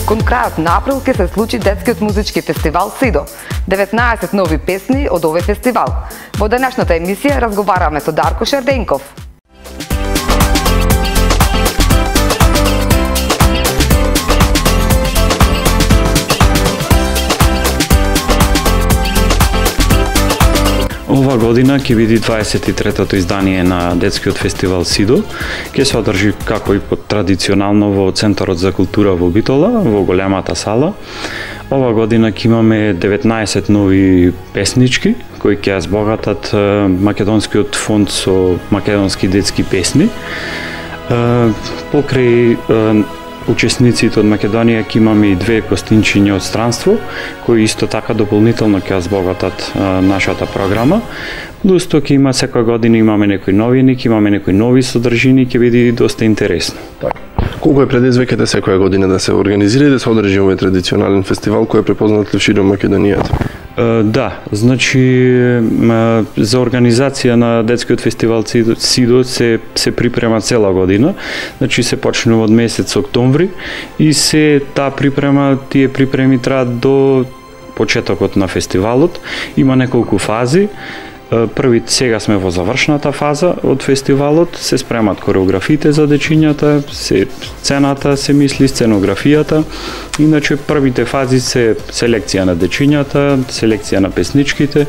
Кон крајот на април ќе се случи детскиот музички фестивал Сидо. 19 нови песни од овој фестивал. Во денешната емисија разговараме со Дарко Шерденков. Ова година ќе биде 23-тото издание на детскиот фестивал Сидо. Ќе се одржи како и традиционално во Центарот за култура во Битола, во големата сала. Ова година ќе имаме 19 нови песнички кои ќе збогатат македонскиот фонд со македонски детски песни. Покрај учесниците од Македонија ќе имаме и две гостинчиња од странство, кои исто така дополнително ќе збогатат нашата програма. Плюс тоа ќе има секоја година имаме некои новини, ќе имаме некои нови содржини, ќе биде доста интересно. Колку е предизвиките секоја година да се организира и да се одржи овој традиционален фестивал кој е препознат широм Македонијата? Да, значи за организација на детскиот фестивал Сидо се припрема цела година. Значи се почнува од месец октомври и таа припрема, тие припреми траат до почетокот на фестивалот. Има неколку фази. Првите сега сме во завршната фаза од фестивалот, се спремат кореографите за дечињата, сцената се мисли, сценографијата. Иначе првите фази се селекција на дечињата, селекција на песничките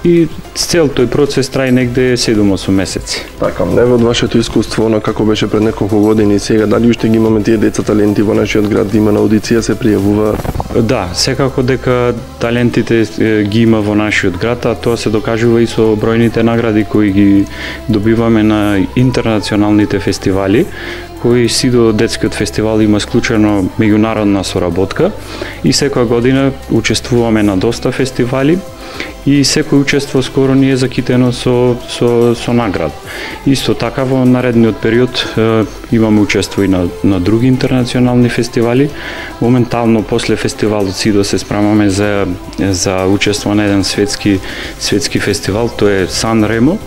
и цел тој процес трае негде 7-8 месеци. Така, еве од вашето искуство, на како беше пред неколку години и сега, дали уште ги имаме тие деца таленти во нашиот град, да има на аудиција, се пријавува? Да, секако дека талентите ги има во нашиот град, а тоа се докажува и со бројните награди кои ги добиваме на интернационалните фестивали, кои Сидо детскиот фестивал има склучено меѓународна соработка и секоја година учествуваме на доста фестивали и секој учество скоро ни е закитено со наград. Исто така во наредниот период имаме учество и на други интернационални фестивали. Моментално после фестивалот Сидо се спремаме за учество на еден светски фестивал, тоа е Сан Ремо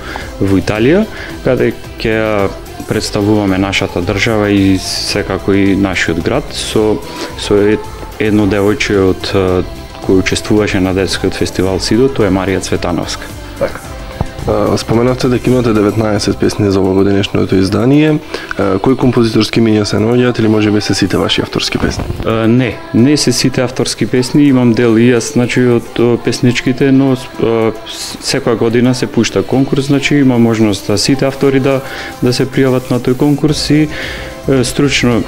во Италија, каде ќе представуваме нашата држава и секако и нашиот град со едно девојче од кој учествуваше на детскиот фестивал Сидо, тоа е Марија Цветановска. Така. Споменавте дека имате 19 песни за овогодинешното издание. Кои композиторски имиња се наоѓаат или можеби се сите ваши авторски песни? Не се сите авторски песни, имам дел и јас, значи од песничките, но секоја година се пушта конкурс, значи има можност да сите автори да се пријават на тој конкурс и стручно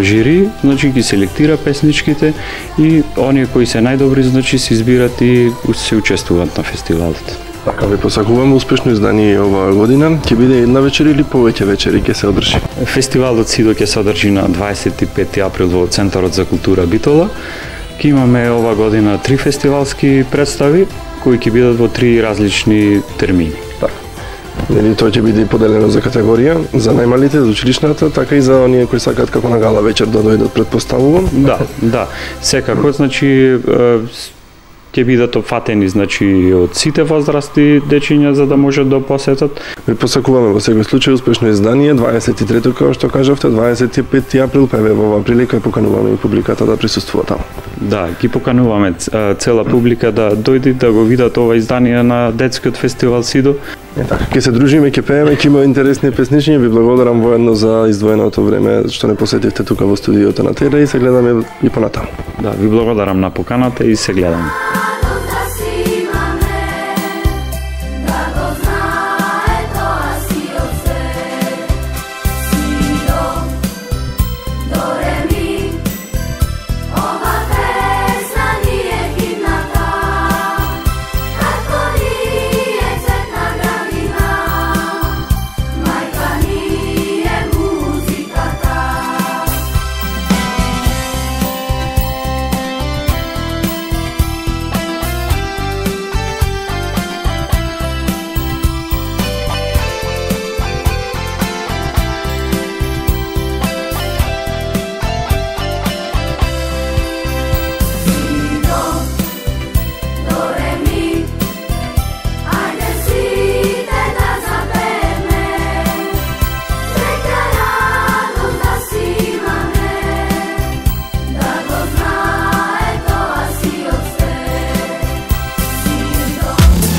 жири, значи ги селектира песничките и оние кои се најдобри, значи се избират и се учествуваат на фестивалот. Така, ви посакуваме успешно издание оваа година. Ќе биде една вечер или повеќе вечери ќе се одржи? Фестивалот Сидо ќе се одржи на 25 април во Центарот за култура Битола. Ќе имаме ова година 3 фестивалски представи кои ќе бидат во 3 различни термини. Нели тоа ќе биде поделено за категорија, за најмалите, за училишната, така и за оние кои сакаат како на гала вечер да дојдат, предпоставувам? Да, секако, значи ќе бидат опфатени, значи од сите возрасти дечиња за да можат да посетат. Ви посакуваме во секој случај успешно издание, 23-то, како што кажавте, 25 април, па во оваа прилика покануваме и публиката да присуствува таму. Да, ги покануваме цела публика да дојде да го видат ова издание на детскиот фестивал Сидо. Така, ќе се дружиме, ќе пееме, ќе има интересни песничиња. Ви благодарам воедно за издвоеното време што не посетивте тука во студиото на ТР и се гледаме и понатаму. Да, ви благодарам на поканата и се гледаме.